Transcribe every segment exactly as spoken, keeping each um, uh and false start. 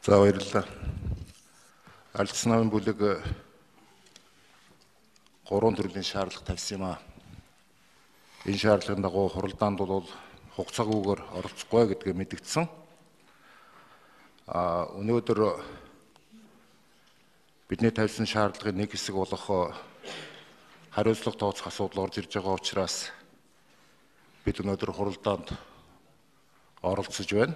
За баярлалаа. Ардчилсан намын бүлэг гурван төрлийн шаардлага тавьсан юм аа. Энэ шаардлагын дагуу хуралдаанд бол хугацаагүйгээр оролцохгүй гэдгийг мэдгдсэн. А өнөөдөр бидний тавьсан шаардлагын нэг хэсэг болох хариуцлага тооцох асуудал орж ирж байгаа учраас бид өнөөдөр хуралдаанд оролцож байна.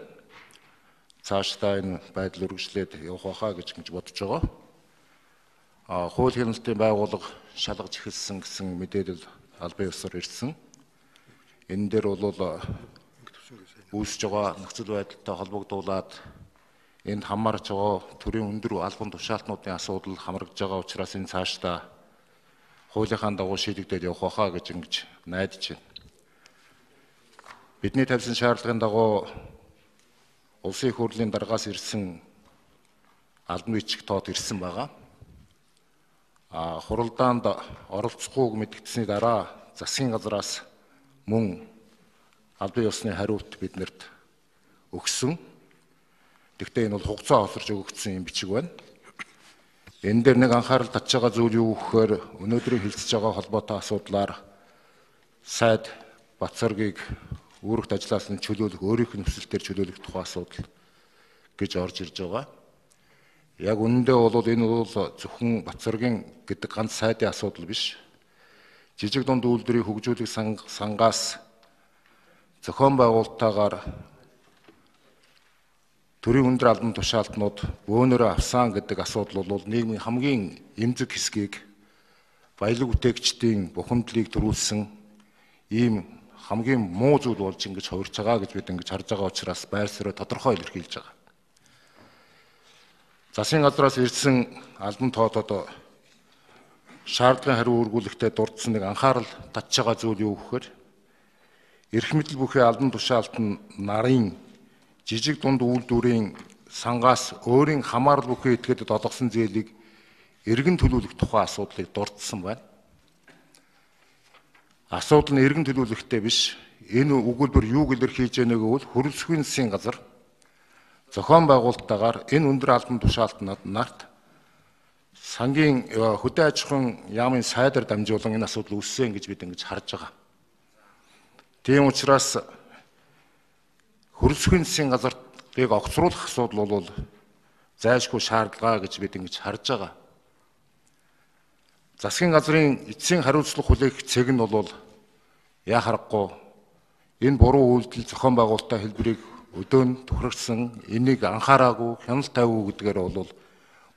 Цаашдаа энэ байдал үргэлжлээд явах байхаа гэж бодож байгаа. А хууль хяналтын байгууллага шалгаж эхэлсэн гэсэн мэдээлэл албан ёсоор ирсэн. Энэ дээр бол үүсэж байгаа нөхцөл байдалтай холбогдуулаад энд хамаарч байгаа төрийн өндөр албан тушаалтнуудын асуудал хамрагдж байгаа учраас энэ цаашдаа хуулийнхаа дагуу шийдэгдээд явах байхаа гэж ингэж найдаж байна. Бидний тавьсан шаардлагын дагуу Улсын их хурлын даргаас ирсэн албан бичиг тоод ирсэн байгаа. А хуралдаанд оролцохгүйг мэдгдсэний дараа засгийн газраас мөн албан ёсны хариулт биднэрт өгсөн. Гэхдээ энэ бол хугацаа хоцорж өгөгдсөн юм бичиг байна. Энэ дээр нэг анхаарал татж байгаа зүйл юу гэхээр өнөөдрийн хэлцэж байгаа холбоотой асуудлаар сайд Батцоргийг үүрэгт ажиллаас нь чөлөөлөх, өөрийнх нь нөхцөлтөөр чөлөөлөх тухай асуудал гэж орж ирж байгаа. Яг үнэндээ бол энэ бол зөвхөн Батцоргийн гэдэг ганц сайдын асуудал биш. Жижиг дунд үйлдвэрийг хөгжүүлэх сангаас зохион байгуулалтаагаар төрийн өндөр албан тушаалтнууд бөөнөрөө авсан гэдэг асуудал бол нийгмийн хамгийн эмзэг хэсгийг баялаг бүтээгчдийн бухимдлыг төрүүлсэн ийм хамгийн муу зүйл болж ингэж хувирч байгаа гэж бид ингэж харж байгаа учраас байр суурь тодорхой илэрхийлж байгаа. Засгийн газраас ирсэн албан тоодод шаардлагын хариу үргүүлэхдээ дурдсан нэг анхаарал татж байгаа зүйл юу гэхээр эрх мэдэл бүхий албан тушаалт нь нарын жижиг дунд үйлдвэрийн сангаас өөрийн хамаарал бүхий этгээдэд олгосон зээлийг эргэн төлүүлэх тухай асуудлыг дурдсан байна. Асуудал нь эргэн төлөвлөлттэй биш. Энэ өгүүлбэр юу илэрхийлж байгааг бол хөрөлсөхийн засгийн газар зохион байгуулалттайгаар энэ өндөр албан тушаалтнууд нарт сангийн хөдөө аж ахуйн яамын сайдаар дамжуулан энэ асуудал үүссэн гэж бид ингэж харж байгаа. Тийм учраас хөрөлсөхийн засгийн газарыг огцруулах асуудал бол зайлшгүй шаардлага гэж бид ингэж харж байгаа. Засгийн газрын эцсийн хариуцлага хүлээх цэг нь бол яа харахгүй энэ буруу үйлдэл зохион байгуулалтын хэлбэрийг өдөөн тохирсон, энийг анхаараагүй, хяналт тавиагүй гэдгээр бол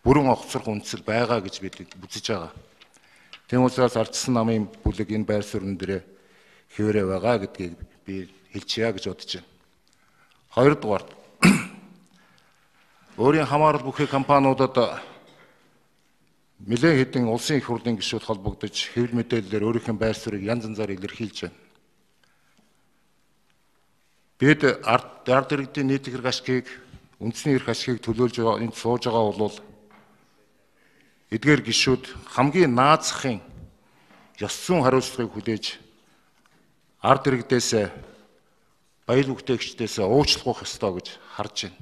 бүрэн огцрох үндсэл байгаа гэж бид үзэж байгаа. Тийм учраас ардчилсан намын бүлэг энэ байр суурин дээр хэвээрээ байгаа гэдгийг би хэлчихье гэж бодож байна. Хоёрдугаар өөрийн хамаарал бүхий компаниудад нэлээд хэдэн улсын их хурлын гишүүд холбогдож хэвлэл мэдээллээр өөрийнхөө байр суурийг янз янзаар илэрхийлж байна. Бид ард ард иргэдийн нийт эрх ашгийг, үндэсний эрх ашгийг төлөөлж байгаа энд сууж байгаа бол эдгээр гишүүд хамгийн наазахын ёс зүйн хариуцлагыг хүлээж ард иргэдээс баялаг бүтээгчдээс уучлах ёстой гэж харж байна.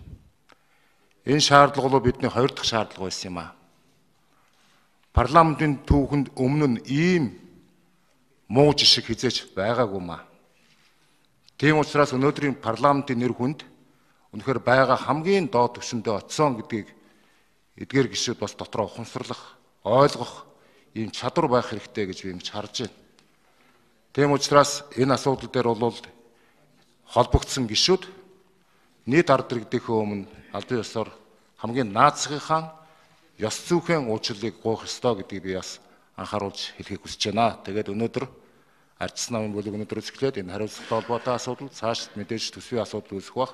Энэ шаардлага бол бидний хоёр дахь шаардлага байсан юм аа. Парламентын түүхэнд өмнө нь ийм муу жишг хизээч байгаагүй маа. Тийм учраас өнөөдрийн парламентын нэр хүнд үнэхээр байгаа хамгийн доод түвшиндээ очсон гэдгийг эдгээр гишүүд бас дотроо ухамсарлах, ойлгох ийм чадвар байх хэрэгтэй гэж би ингэж харж байна. Тийм учраас энэ асуудал дээр бол холбогдсон гишүүд нийт ард иргэдийнхээ өмнө албан ёсоор хамгийн наацхынхаа ёс зүйн уучлалыг гуйх ёстой гэдгийг би бас анхааруулж хэлхийг хүсэж байна. Тэгээд өнөөдөр ардчилсан намын бүлэг өнөөдөр зөвлөд энэ хариуцлагатай холбоотой асуудал цааш мэдээж төсвийн асуудал үүсэх бах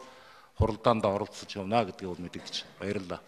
хуралдаанд оролцож явна гэдгийг бол мэдэгдэж байна. Баярлалаа.